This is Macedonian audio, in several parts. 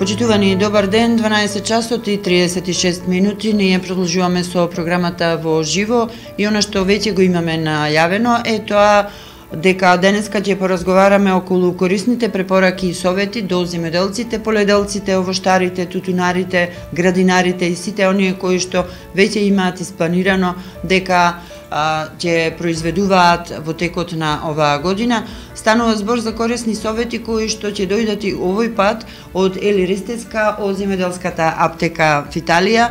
Почитувани, добар ден, 12 часот и 36 минути. Ние продолжуваме со програмата во живо и она што веќе го имаме најавено е тоа дека денеска ќе поразговараме околу корисните препораки и совети до земјоделците, поледелците, овоштарите, тутунарите, градинарите и сите оние кои што веќе имаат испланирано дека ќе произведуваат во текот на оваа година. Станува збор за корисни совети кои што ќе дојдат и овој пат од Ели Ристеска од земјоделската аптека Фиталија,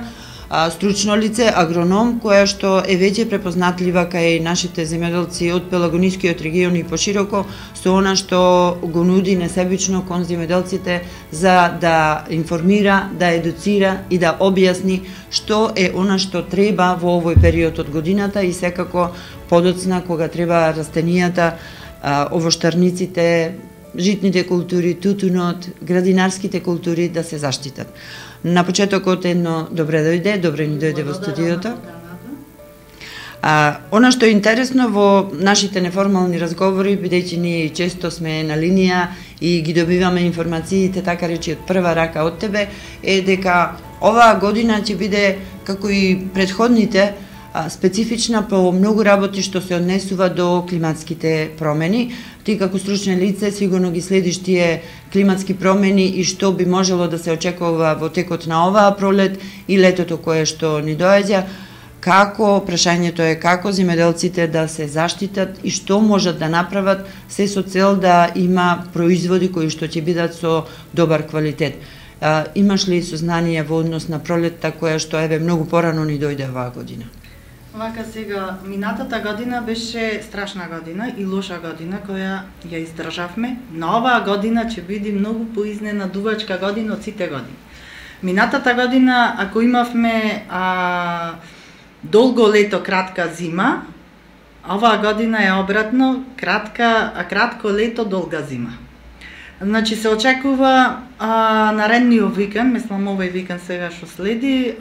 стручно лице, агроном, која што е веќе препознатлива кај нашите земјоделци од Пелагонискиот регион и пошироко, со она што го нуди несебично кон земјоделците за да информира, да едуцира и да објасни што е она што треба во овој период од годината и секако подоцна кога треба растенијата, овоштарниците, житните култури, тутунот, градинарските култури да се заштитат. На почетокот едно добре ни дојде во студиото. Она што е интересно во нашите неформални разговори, бидејќи ние често сме на линија и ги добиваме информациите, така речи од прва рака од тебе, е дека оваа година ќе биде, како и предходните, специфична по многу работи што се однесува до климатските промени. Ти како стручно лице сигурно ги следиш тие климатски промени и што би можело да се очекува во текот на оваа пролет и летото кое што ни доаѓа. Како, прашањето е како земјоделците да се заштитат и што можат да направат се со цел да има производи кои што ќе бидат со добар квалитет. Имаш ли сознание во однос на пролетта која што еве многу порано ни дојде оваа година? Вака сега, минатата година беше страшна година и лоша година која ја издржавме. На оваа година ќе биде многу поизненадувачка година од сите години. Минатата година, ако имавме долго лето, кратка зима, оваа година е обратно, кратко лето, долга зима. Значи се очекува наредниот викенд, мислам овој викенд сега што следи,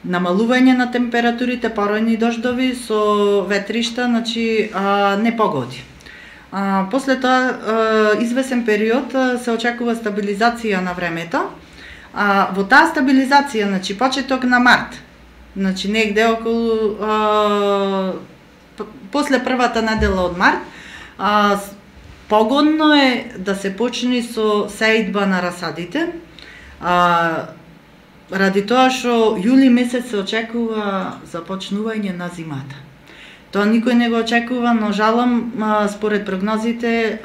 намалување на температурите, поројни дождови со ветришта, значи непогоди. После тоа извесен период се очекува стабилизација на времето. Во таа стабилизација, значи почеток на март, значи негде околу после првата недела од март, погодно е да се почне со сеидба на расадите. Ради тоа што јули месец се очекува започнување на зимата. Тоа никој не го очекува, но жалам, според прогнозите,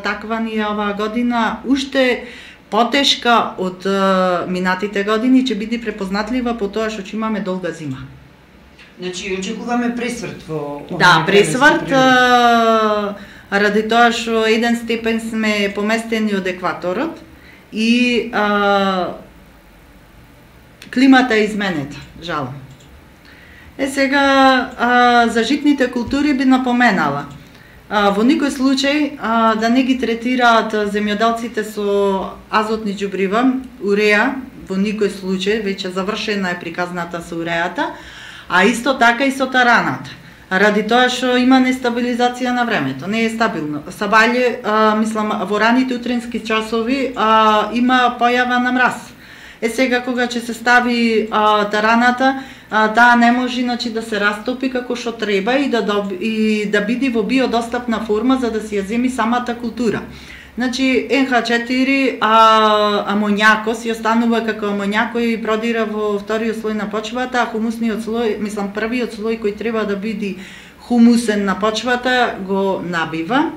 таква ни е оваа година, уште потешка од минатите години, ќе биде препознатлива по тоа што ќе имаме долга зима. Значи, очекуваме пресврт во... Да, пресврт, ради тоа што 1 степен сме поместени од екваторот и климата е изменета, жалам. Сега, за житните култури би напоменала. Во никој случај да не ги третираат земјоделците со азотни џубрива, уреа, во никој случај, веќе завршена е приказната со уреата, а исто така и со тараната. Ради тоа што има нестабилизација на времето, не е стабилно. Сабајле, мислам, во раните утрински часови има појава на мраз. Сега кога ќе се стави тараната, таа не може иначе да се растопи како што треба и да биде во биодостапна форма за да си ја земи самата култура. Значи НH4 амоњакос ја останува како амоњак кој продира во вториот слој на почвата, а хумусниот слој, мислам првиот слој кој треба да биде хумусен на почвата го набива,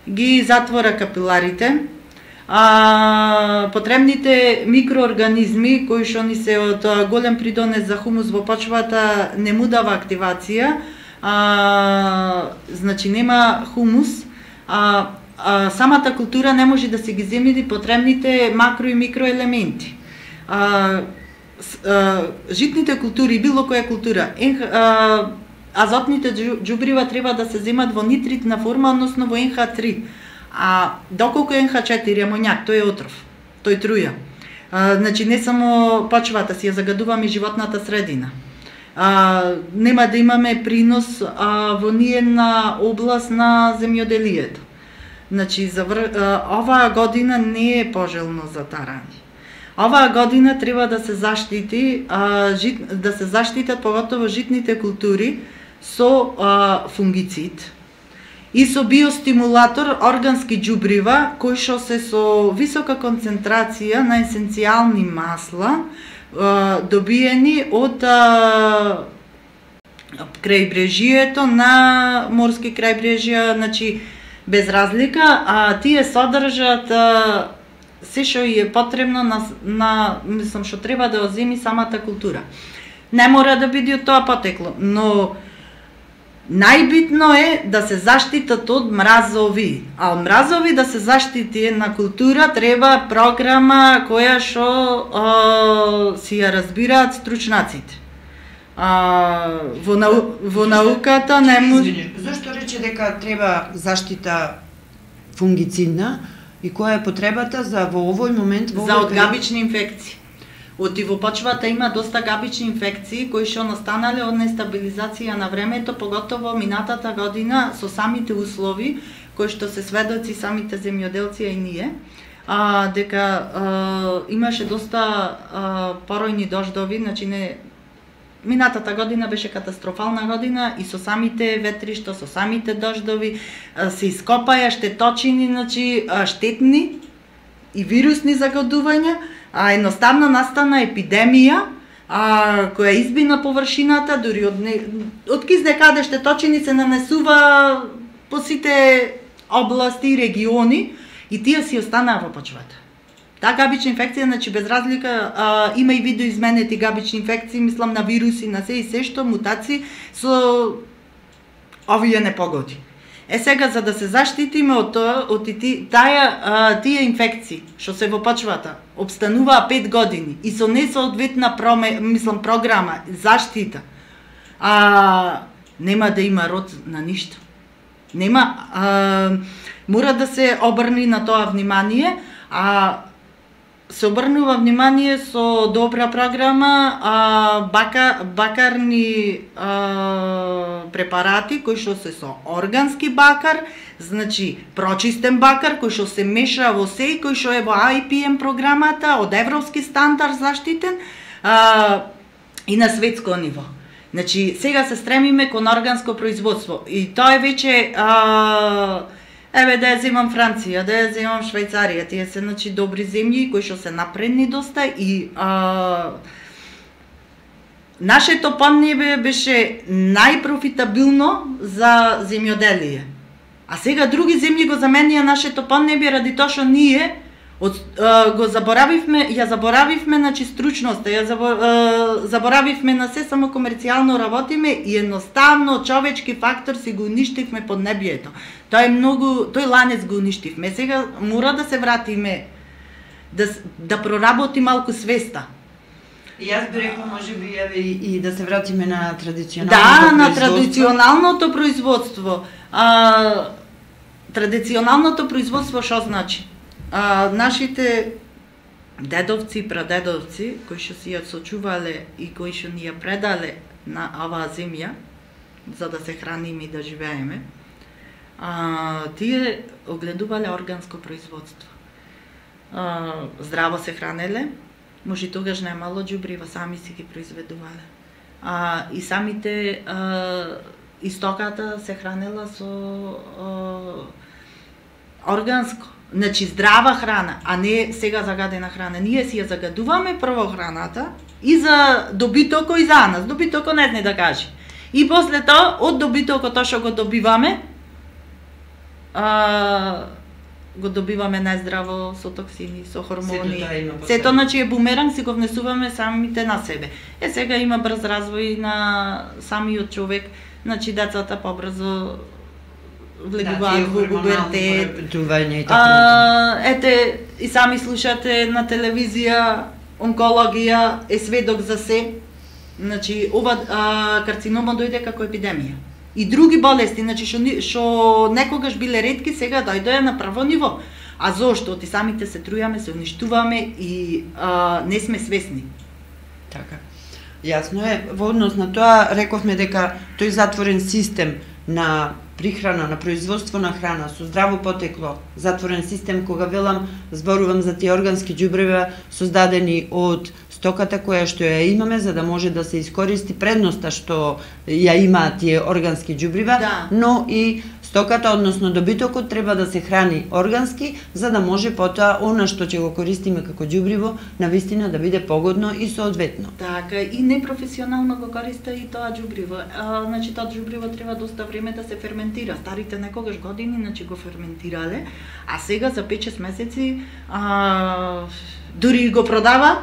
ги затвора капиларите. Потребните микроорганизми кои што ни се од голем придонес за хумус во почвата не му дава активација, значи нема хумус, самата култура не може да се ги земи потребните макро и микроелементи. Житните култури, било која култура, азотните џубрива треба да се земат во нитритна форма, односно во NH3. Доколку е NH4 амоњак, тој е отров, тој труја. Значи не само почвата си ја загадуваме животната средина. Нема да имаме принос во ниедна област на земјоделието. Значи, оваа година не е пожелно за тарање. Оваа година треба да се заштити, да се заштитат поготово житните култури со фунгицид и со биостимулатор органски ѓубрива кои што се со висока концентрација на есенцијални масла добиени од крајбрежието на морски крајбрежја, значи без разлика, тие содржат се што е потребно на мислам што треба да оземи самата култура. Не мора да биде од тоа потекло, но најбитно е да се заштитат од мразови. А од мразови да се заштити една култура треба програма која што си ја разбираат стручнаците. Во науката не може. Зошто рече дека треба заштита фунгицидна и која е потребата за во овој момент за од габични инфекции? Оти во почвата има доста габични инфекции кои што настанале од нестабилизација на времето, поготово минатата година со самите услови кои што се сведоци самите земјоделци и ние, дека имаше доста поројни дождови, значи не минатата година беше катастрофална година и со самите ветришта, со самите дождови се ископаја штеточини, значи штетни и вирусни загадувања, едноставно настана епидемија која изби на површината, дури од кизне каде штеточини се нанесува по сите области и региони и тие си останаа во почвата. Таа габична инфекција, значи без разлика, има и видоизменети габични инфекции, мислам на вируси, на се и се што мутации со овие непогоди. Сега за да се заштитиме од тоа, од тие инфекции што се во почвата, обстануваа 5 години и со несоодветна програма заштита, нема да има род на ништо. Нема, мора да се обрни на тоа внимание, се обрнува внимание со добра програма, бакарни препарати кои што се со органски бакар, значи прочистен бакар кој што се меша во се и кој што е во IPM програмата од европски стандард заштитен и на светско ниво. Значи сега се стремиме кон органско производство и тоа е веќе еве да ја земам Франција, да ја земам Швајцарија, тие се значи добри земји кои што се напредни доста и нашето поднебе беше најпрофитабилно за земјоделие. А сега други земји го заменија нашето поднебе ради тоа што ние го заборавивме, значи стручноста, заборавивме на се, само комерцијално работиме и едноставно човечки фактор си го уништивме поднебието. Тоа е многу, тој ланец го уништивме. Сега мора да се вратиме, да проработи малку свеста. И јас би рекла, можеби и да се вратиме на традиционалното производство. Да, на традиционалното производство. Традиционалното производство што значи? Нашите дедовци и прадедовци, кои што си ја сочувале и кои што ни ја предале на оваа земја, за да се храниме и да живееме, тие огледувале органско производство. Здраво се хранеле, може тогаш немало ѓубрива, сами си ги произведувале. И самите истоката се хранела со органско. Значи здрава храна, а не сега загадена храна. Ние си ја загадуваме прво храната и за добитоко и за нас. Добитоко не зне да каже. И после тоа, од добитоко тоа што го добиваме, го добиваме најздраво со токсини, со хормони. Сето значи е бумеранг, си го внесуваме самите на себе. Сега има брз развој на самиот човек, значи децата побрзо влегуваат во пубертет. Ете, и сами слушате на телевизија, онкологија е сведок за се. Значи, ова карцинома дојде како епидемија. И други болести, значи што некогаш биле ретки, сега дојдоа на прво ниво. А зошто? Оти самите се трујаме, се уништуваме и не сме свесни. Така. Јасно е, во однос на тоа рековме дека тој затворен систем на прихрана, на производство на храна со здраво потекло, затворен систем, кога велам, зборувам за тие органски џубрева создадени од стоката која што ја имаме, за да може да се искористи предноста што ја имаат тие органски џубрива, но и стоката, односно добитокот, треба да се храни органски, за да може потоа она што ќе го користиме како џубриво, навистина да биде погодно и соодветно. Така, и непрофесионално го користи и тоа џубриво. Значи, тоа џубриво треба доста време да се ферментира. Старите некогаш години, значи, го ферментирале, а сега за 5-6 месеци дури го продава.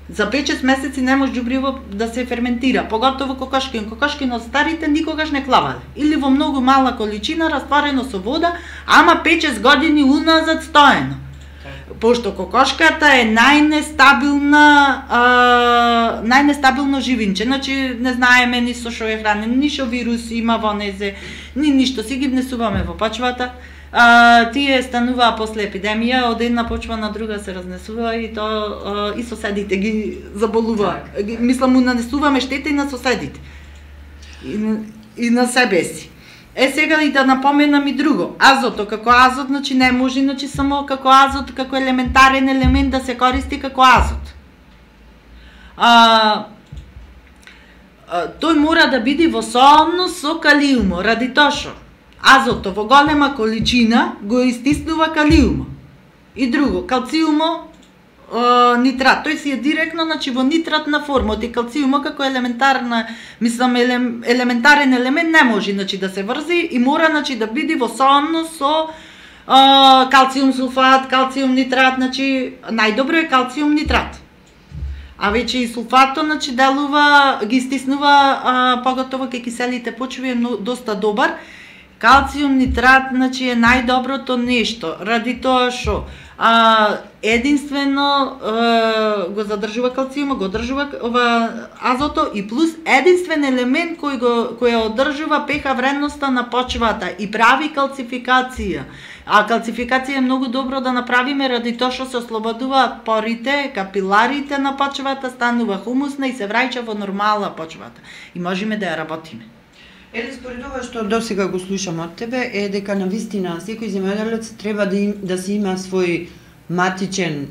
За 5-6 месеци не може џубриво да се ферментира, поготово кокошкин. Кокошкин од старите никогаш не клавале. Или во многу мала количина, растворено со вода, ама 5-6 години уназад стоено. Пошто кокошката е најнестабилно живинче, значи не знаеме ни со што е хранен, ни што вирус има во незе, ни ништо, си ги внесуваме во почвата. Тие стануваа после епидемија, од една почва на друга се разнесува и то и соседите ги заболуваат. Мислам, нанесуваме штета и на соседите. И на себе си. Сега и да напоменам и друго. Азото, како азот, значи не може, значи само како азот, како елементарен елемент да се користи како азот. Тој мора да биде во соодност со калиумо, ради тоа што азото во голема количина го истиснува калиумо. И друго, калциумо, нитрат. Тој си е директно, значи, во нитратна форма. Оти калциумо како елементарен елемент не може, значи, да се врзи и мора, значи, да биде во соодност со калциум сулфат, калциум нитрат, значи најдобро е калциум нитрат. А веќе и сулфатот, значи, делува, ги истиснува, поготово кај киселите почви е доста добар. Калциум нитрат, значи, е најдоброто нешто, ради тоа што единствено го задржува калциума, го одржува азото и плюс единствен елемент кој одржува pH вредноста на почвата и прави калцификација. А калцификација е многу добро да направиме ради тоа што се ослободуваат порите, капиларите на почвата, станува хумусна и се враќа во нормална почвата. И можеме да ја работиме. Според ова што досега го слушам од тебе е дека навистина секој земјоделец треба да си има свој матичен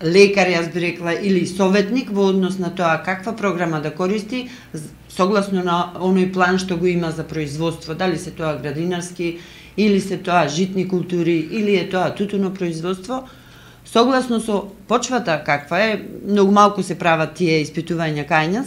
лекар, јас би рекла, или советник во однос на тоа каква програма да користи согласно на оној план што го има за производство, дали се тоа градинарски, или се тоа житни култури, или е тоа тутуно производство, согласно со почвата каква е, многу малку се прават тие испитувања кај нас,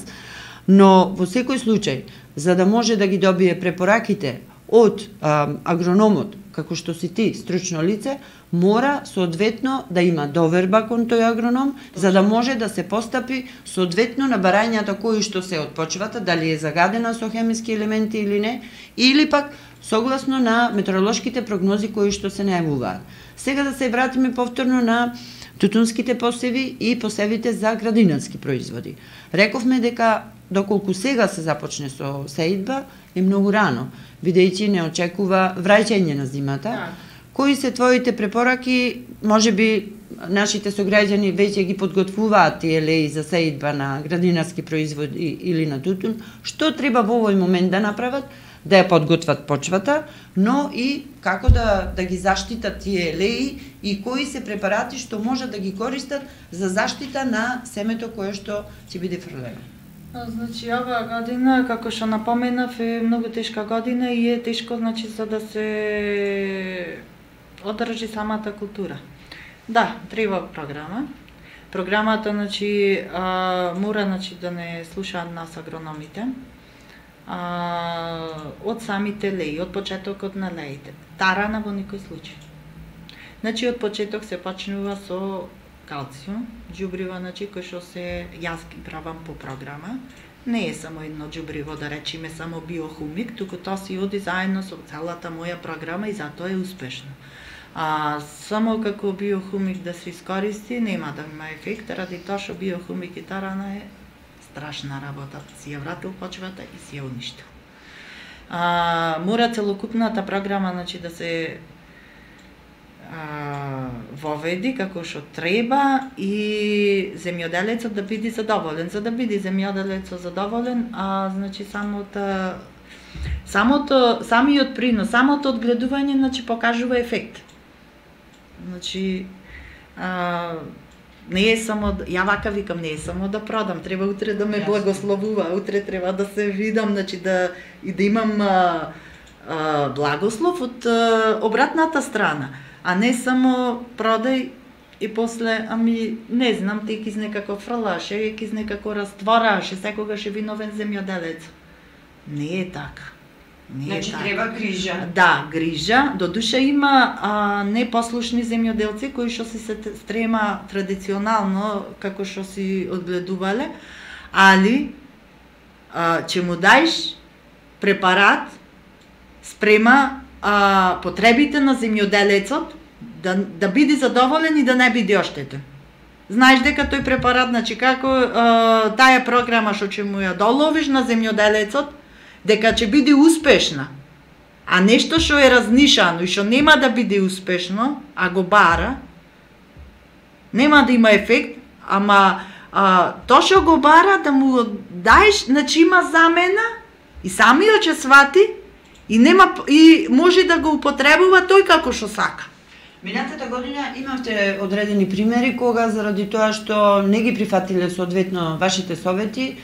но во секој случај, за да може да ги добие препораките од агрономот, како што си ти, стручно лице, мора соодветно да има доверба кон тој агроном, за да може да се постапи соодветно на барањата кои што се од почвата, дали е загадена со хемиски елементи или не, или пак согласно на метеоролошките прогнози кои што се најавуваат. Сега да се вратиме повторно на тутунските посеви и посевите за градинарски производи. Рековме дека доколку сега се започне со сеидба, е многу рано, бидејќи не очекува враќање на зимата. Кои се твоите препораки? Можеби нашите сограѓани веќе ги подготвуваат тие леи за сеидба на градинарски производи или на тутун. Што треба во овој момент да направат? Да ја подготват почвата, но и како да ги заштитат тие леи и кои се препарати што можат да ги користат за заштита на семето кое што ќе биде фрлено. Значи, оваа година, како што напоменав, е многу тешка година и е тешко, значи, за да се одржи самата култура. Да, треба програма. Програмата, значи, мора, значи, да не слушаат нас агрономите. Од самите леи, од почетокот на леите. Тарана во никој случај. Значи, од почеток се почнува со калциум, џубрива, значи, кој што се јас ги правам по програма. Не е само едно џубриво, да речеме само биохумик, туку тоа си оди заедно со целата моја програма и затоа е успешно. Само како биохумик да се искористи, нема да има ефект, ради тоа што биохумик и тарана е страшна работа. Си ја вратил почвата и си ја уништил. Мора целокупната програма, значи, да се воведи како што треба и земјоделецот да биде задоволен. За да биде земјоделецот задоволен, значи, самата самиот принос, самото одгледување, значи покажува ефект. Значи не е само, ја вака викам, не е само да продам, треба утре да ме благословува, утре треба да се видам, значи да имам благослов од обратната страна, а не само продај и после, не знам, ти кизне како фрлаше, кизне како раствораше, секогаш е виновен земјоделец. Не е така. Значи треба грижа. Да, грижа. Додуша има непослушни земјоделци кои што се стрема традиционално како што си одгледувале, али ќе му даеш препарат спрема потребите на земјоделецот да биде задоволен и да не биде оштетен. Знаеш дека тој препарат, значи како таа програма што ќе му ја доловиш на земјоделецот, дека ќе биде успешна, а нешто што е разнишано и што нема да биде успешно, а го бара, нема да има ефект, ама тоа што го бара да му даеш, значи има замена и самиот ќе свати и може да го употребува тој како што сака. Минатата година имавте одредени примери кога заради тоа што не ги прифатиле соодветно вашите совети,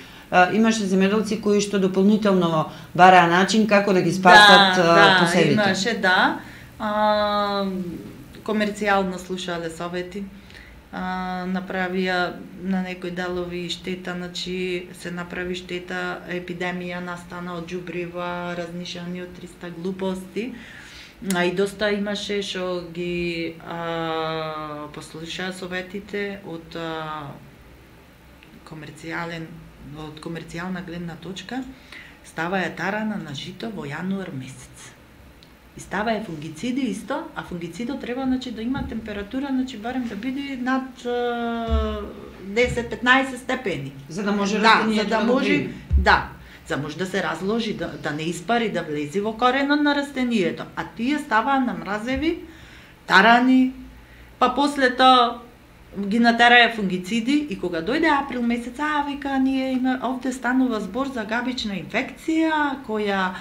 имаше земјоделци кои што дополнително бараа начин како да ги спасат посевите. Имаше, комерцијално слушале совети, направија на некои делови штета, значи се направи штета, епидемија настана од џубрива, разнишани од 300 глупости, и доста имаше што ги послушаа советите од комерцијална гледна точка, става е тарана на жито во јануар месец. И става е фунгициди исто, а фунгицидот треба, значи, да има температура, значи, барем да биде над 10-15 степени. За да може растението да може, за може да се разложи, да не испари, да влезе во коренот на растението. А тие ставаа на мразеви, тарани, па после тоа ги натераа фунгициди и кога дојде април месец, вика, ние овде станува збор за габична инфекција која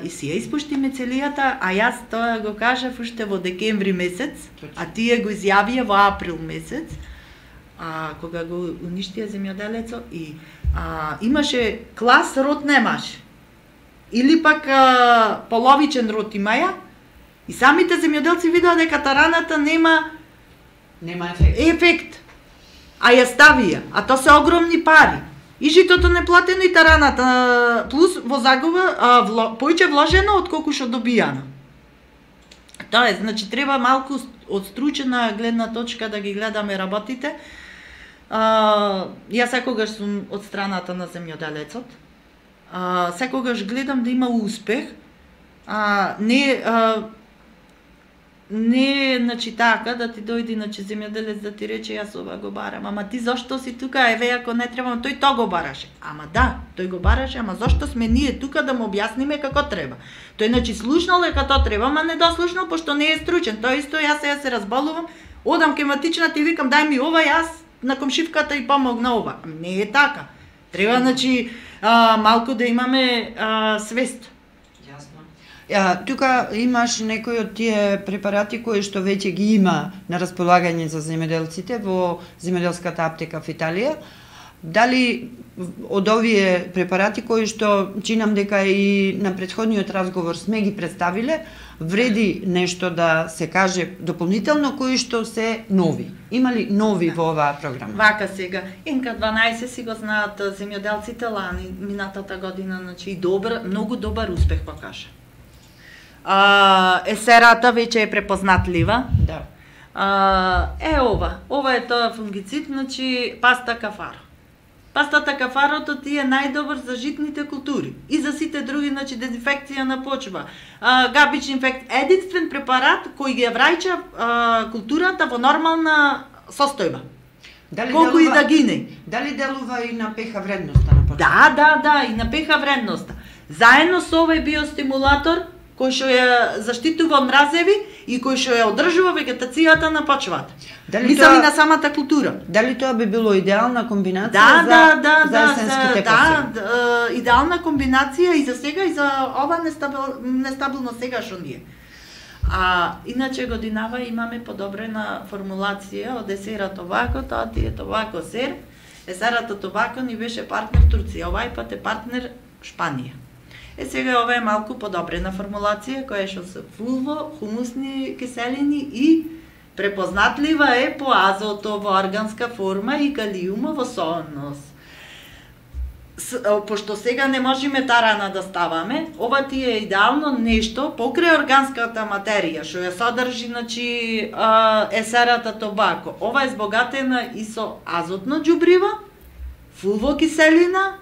и си ја испуштиме целијата, а јас тоа го кажав уште во декември месец, а тие го изјавија во април месец, кога го уништија земјоделецот и имаше клас род немаше. Или пак половичен род имаја и самите земјоделци видоа дека тараната нема ефект. А ја ставија, а тоа се огромни пари. И житото неплатено и тараната, плюс во загуба поиќе вложено отколку што добијано. Тоа е, значи треба малку од стручена гледна точка да ги гледаме работите. Јас секогаш сум од страната на земјоделецот. Секогаш гледам да има успех. Не, значи така, да ти дојди, значи, земјоделец да ти рече, јас ова го барам, ама ти зошто си тука, еве, ако не требам, тој тоа го бараше. Ама да, тој го бараше, ама зошто сме ние тука да му објасниме како треба. Тој, значи, слушнал дека тоа треба, ама не дослушнал, пошто не е стручен. Тоа исто, јас сега се разболувам, одам ке матичната и викам, дај ми ова, јас на комшивката и помогна ова. Не е така. Треба, значи, малку да имаме свест. Тука имаш некои од тие препарати кои што веќе ги има на располагање за земјоделците во земјоделската аптека в Италија. Дали од овие препарати кои што чинам дека и на претходниот разговор сме ги представиле, вреди нешто да се каже дополнително кои што се нови? Има ли нови во оваа програма? Вака сега, НК12 си го знаат земјоделците лани, минатата година, значи многу добар успех покажа. Есерата веќе е препознатлива. Да. Ова е тоа фунгицид, значи паста кафаро. Пастата кафарото ти е најдобар за житните култури и за сите други, значи дезинфекција на почва. Габични инфекција, единствен препарат кој ги враќа културата во нормална состојба. Колку и да гине. Дали делува и на ПХ вредноста на почва? Да, и на ПХ вредноста. Заедно со овој биостимулатор кој што ја заштитува од мразеви и кој што ја одржува вегетацијата на почвата. Мислам и на самата култура. Дали тоа би било идеална комбинација за есенските посеви? Да, идеална комбинација и за сега и за ова нестабилно сега што ние. Иначе годинава имаме подобрена формулација од есерата овако, тоа ти е овако сер. Есерата Тобако ни беше партнер Турција, овај пат е партнер Шпанија. Сега ова е малку подобрена формулација која што се фулво, хумусни киселини и препознатлива е по азото во органска форма и калиума во соонос. Пошто сега не можеме тарана да ставаме, ова ти е идеално нешто покрај органската материја што ја содржи, значи, есерата Тобако. Ова е збогатена и со азотно џубриво, фулвокиселина,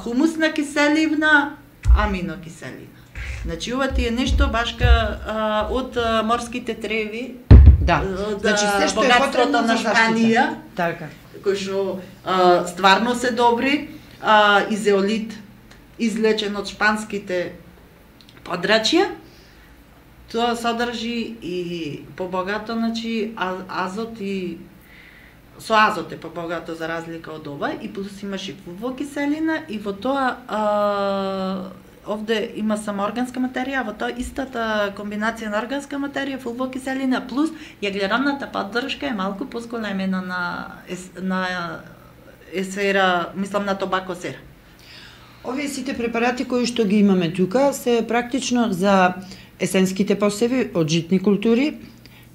хумусна киселина, аминокиселина. Значи ова ти е нешто башка од морските треви. Да. Значи се што е потребно на Шпанија. Така. Кои што стварно се добри, и зеолит излечен од шпанските подрачја, тоа содржи и побогато, значи, азот и со азот е побогато за разлика од ова, и плюс имаш и фулвокиселина, и во тоа овде има само органска материја, во тоа истата комбинација на органска материја, фулвокиселина плюс јаглеронната поддршка е малку позголемена на есера, мислам на Тобако сера. Овие сите препарати кои што ги имаме тука се практично за есенските посеви од житни култури.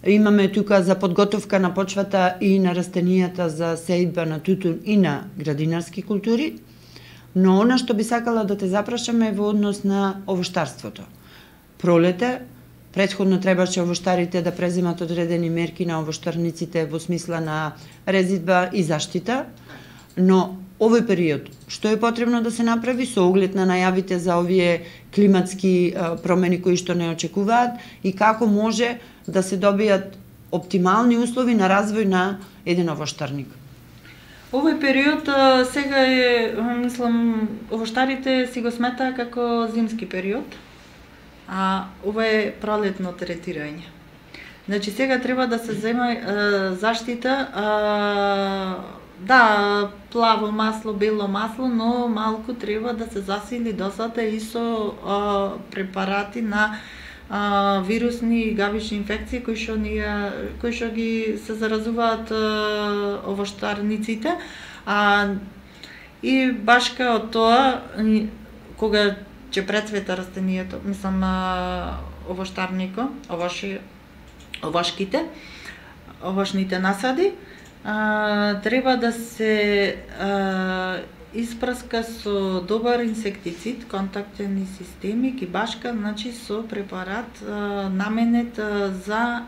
Имаме тука за подготовка на почвата и на растенијата за сејдба на тутун и на градинарски култури. Но она што би сакала да те запрашаме е во однос на овоштарството. Пролете, претходно требаше овоштарите да преземат одредени мерки на овоштарниците во смисла на резидба и заштита, но овој период, што е потребно да се направи со оглед на најавите за овие климатски промени кои што не очекуваат и како може да се добијат оптимални услови на развој на еден овоштарник? Овој период сега е, мислам, овоштарите си го сметаа како зимски период, а ова е пролетно третирање. Значи сега треба да се зема заштита, да, плаво масло, бело масло, но малку треба да се засили досата и со препарати на вирусни и гавични инфекции кои што ги се заразуваат овоштарниците, и башка од тоа кога ќе прецвета растенијето, мислам овоштарнико, овошните насади, треба да се испраска со добар инсектицид, контактни системи, кибашка, значи со препарат наменет за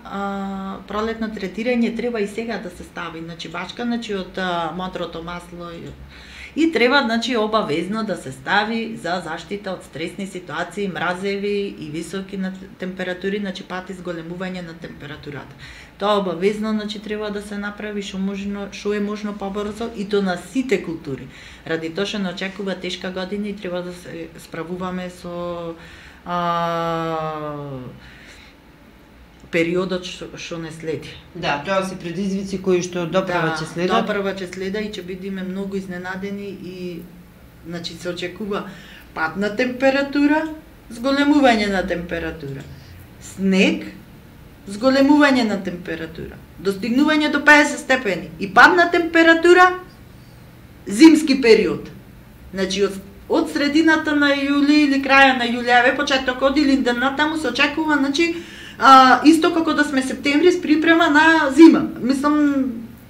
пролетно третирање, треба и сега да се стави, значи башка, значи од модрото масло и треба, значи, обавезно да се стави за заштита од стресни ситуации, мразеви и високи на температури, значи пати зголемување на температурата. Тоа обавезно, значи, треба да се направи што е можно побрзо и то на сите култури. Ради тоа што не очекува тешка година и треба да се справуваме со периодот што не следи. Да, тоа се предизвици кои што доправа ќе следат. Доправа ќе следа и ќе бидеме многу изненадени и, значи, се очекува пад на температура, зголемување на температура. Снег, зголемување на температура. Достигнување до 50 степени и пад на температура, зимски период. Значи, од средината на јули или краја на јулјаве, почетокот или денатаму се очекува, значи, исто како да сме септември с припрема на зима. Мислам,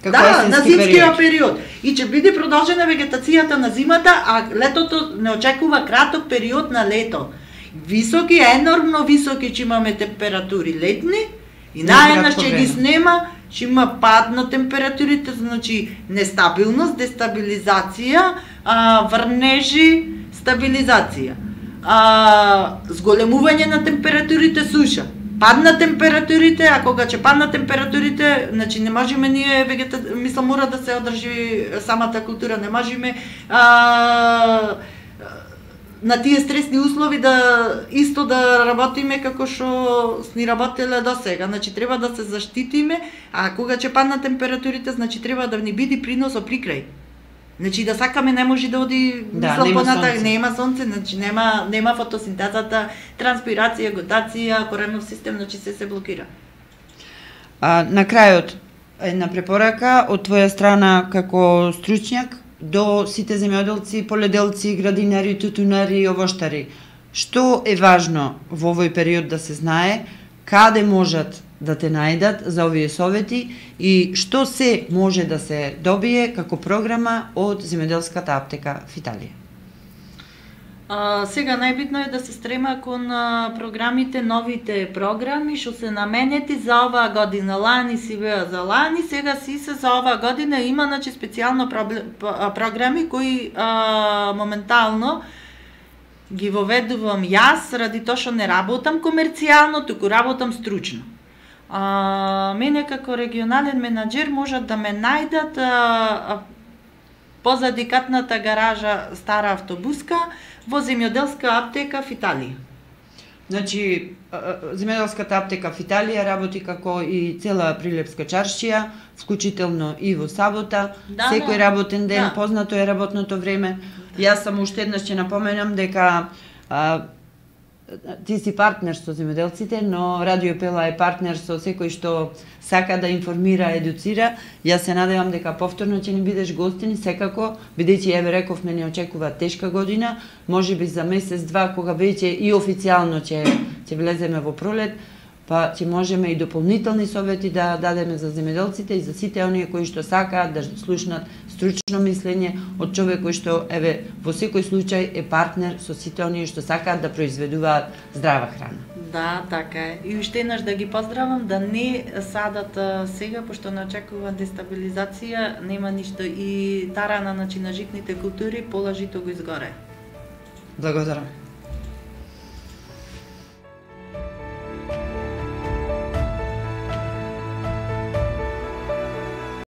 на зимскиот период. И ќе биде продолжена вегетацијата на зимата, а летото не очекува краток период на лето. Високи, енормно високи ќе имаме температури летни и наеднаш ќе ги снема, ќе има пад на температурите, значи нестабилност, дестабилизација, врнежи, стабилизација. Зголемување на температурите, суша. Падна температурите, а кога ќе падна температурите, значи не можеме ние мислам мора да се одржи самата култура, не можеме на тие стресни услови исто да работиме како што сни работеле до сега. Значи треба да се заштитиме, а кога ќе паднат температурите, значи треба да ни биде приносо прикрај. Значи да сакаме не може да оди нема сонце, значи нема фотосинтезата, транспирација, готација, коремов систем, значи се блокира. На крајот, една препорака од твоја страна како стручњак до сите земјоделци, поледелци, градинари, тутунари и овоштари. Што е важно во овој период да се знае, каде можат да те најдат за овие совети и што се може да се добие како програма од земјоделската аптека в Италија? Сега најбитно е да се стрема кон програмите, новите програми што се наменети за оваа година. Лани си беа за лани, сега си се за оваа година има значи специјално програми кои моментално ги воведувам јас ради тоа што не работам комерцијално, туку работам стручно. Мене како регионален менаџер можат да ме најдат позади катната гаража Стара автобуска во земјоделска аптека в Италија. Значи, земјоделската аптека в Италија работи како и цела Прилепска чаршија, вклучително и во сабота, секој работен ден, познато е работното време. Јас сам уште еднаш ќе напоменам дека ти си партнер со земјоделците, но Радио Пела е партнер со секој што сака да информира, едуцира. Јас се надевам дека повторно ќе ни бидеш гостин, секако, бидејќи еве рековме не очекува тешка година, можеби за месец-два кога веќе и официјално ќе влеземе во пролет, па ќе можеме и дополнителни совети да дадеме за земјоделците и за сите оние кои што сакаат да слушнат стручно мислење од човек кој што еве во секој случај е партнер со сите оние што сакаат да произведуваат здрава храна. Да, така е. И уште еднаш да ги поздравам да не садат сега, пошто не очекува дестабилизација, нема ништо и тарана на житните култури, положито го изгоре. Благодарам.